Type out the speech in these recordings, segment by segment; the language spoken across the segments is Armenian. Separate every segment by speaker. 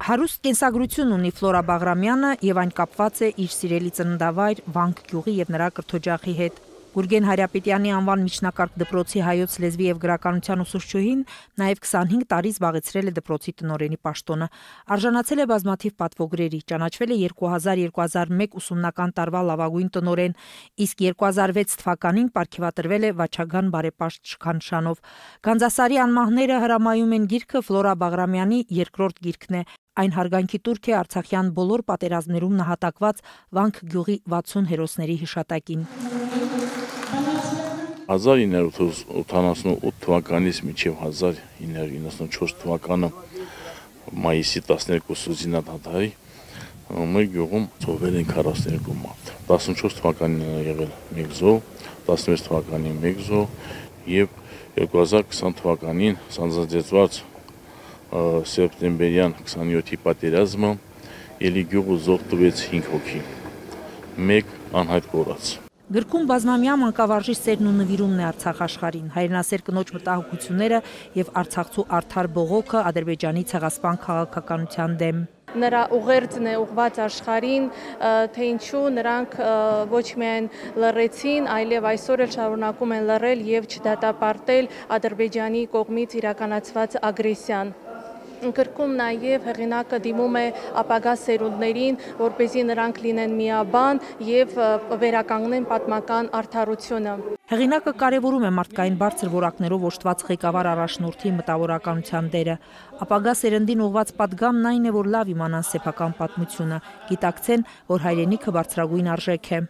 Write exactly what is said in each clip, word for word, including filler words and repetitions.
Speaker 1: Հարուստ կենսագրություն ունի Ֆլորա Բաղրամյանը եւ այն կապված է իր սիրելի ծննդավայր Վանք գյուղի եւ նրա կրթօջախի հետ։ Գուրգեն Հարապետյանի անվան միջնակարգ դպրոցի հայոց լեզվի եւ գրականության ուսուցչուհին նաեւ քսանհինգ տարի զբաղեցրել է դպրոցի տնօրենի պաշտոնը։ Արժանացել է բազմաթիվ պատվոգրերի, ճանաչվել է երկու հազար երկու հազար մեկ ուսումնական տարվա լավագույն տնօրեն, իսկ երկու հազար վեց թվականին պարգևատրվել է Վաչագան բարեպաշտ շքանշանով։ Գանձասարի անմահները հրամայում են գիրքը Ֆլորա Բաղրամյանի երկրորդ գիրքն է։ Այն հարգանքի տուրք է Արցախյան բոլոր պատերազմներում նահատակված Վանք գյուղի վաթսուն հերոսների հիշատակին։
Speaker 2: հազար ինը հարյուր ութանասունութ թվականից մինչև հազար ինը հարյուր իննսունչորս թվականը մայիսի տասներկուսը զինադադարի մեր գյուղում ծովել են քառասունյոթ մարդ։ տասնչորս թվականին եղել մեկ զոհ, տասնվեց թվականին մեկ զոհ եւ երկու հազար քսան թվականին սանձազերծված սեպտեմբերյան քսանյոթի պատերազմը ելի գյուղը զոհ տվեց հինգ հոգի, մեկ անհայտ կորած։
Speaker 1: Գրքում բազմամյա մանկավարժի սերն ու նվիրումն է Արցախ աշխարհին, հայրենասեր կնոջ մտահոգությունները եւ Արցախցու արդար բողոքը Ադրբեջանի ցեղասպան քաղաքականության դեմ։
Speaker 3: Նրա ուղերձն է ուղված աշխարհին, թե ինչու նրանք ոչ միայն լռեցին, այլև այսօր էլ շարունակում են լռել եւ չդատապարտել Ադրբեջանի կողմից իրականացված ագրեսիան։ Գրքում նաև հեղինակը դիմում է ապագա սերունդներին, որպեսզի նրանք լինեն միաբան եւ վերականգնեն պատմական արդարությունը։
Speaker 1: Հեղինակը կարևորում է մարդկային բարձր որակներով օժտված ղեկավար առաջնորդի մտավորականության դերը։ Ապագա սերնդին ուղված պատգամն այն է, որ լավ իմանան սեփական պատմությունը, գիտակցեն, որ հայրենիքը բարձրագույն արժեք է։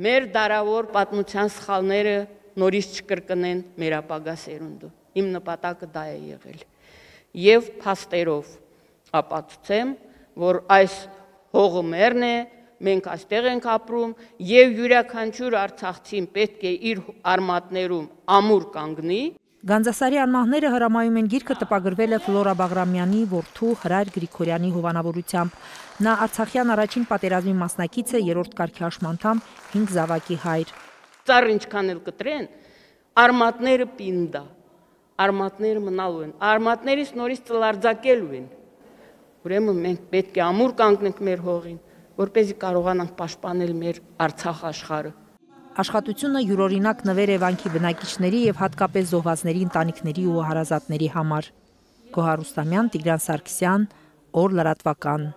Speaker 4: Մեր դարավոր պատմության սխալները նորից չկրկնեն մեր ապագա սերունդը։ Իմ նպատակը դա է եղել։ Եվ փաստերով ապացուցեմ, որ այս հողը մերն է, մենք այստեղ ենք ապրում եւ յուրաքանչյուր արցախցին պետք է իր արմատներում ամուր կանգնի։
Speaker 1: Գանձասարի անմահները հրամայում են գիրքը տպագրվել է Ֆլորա Բաղրամյանի որդու Հրայր Գրիգորյանի հովանավորությամբ։ Նա Արցախյան առաջին պատերազմի մասնակից է, երրորդ կարգի հաշմանդամ, հինգ զավակի հայր։
Speaker 4: Ծառ ինչքան էլ կտրեն, արմատները պինդա։ Արմատները մնալու են, արմատներից նորից ծլարձակելու են։ Ուրեմն մենք պետք է ամուր կանգնենք մեր հողին, որպեսզի կարողանանք պաշտպանել մեր Արցախ աշխարհը։
Speaker 1: Աշխատությունը յուրօրինակ նվեր է Վանքի բնակիչների եւ հատկապես զոհվածների ընտանիքների ու հարազատների համար։ Գոհար Ռուստամյան, Տիգրան Սարգսյան, Օր լրատվական։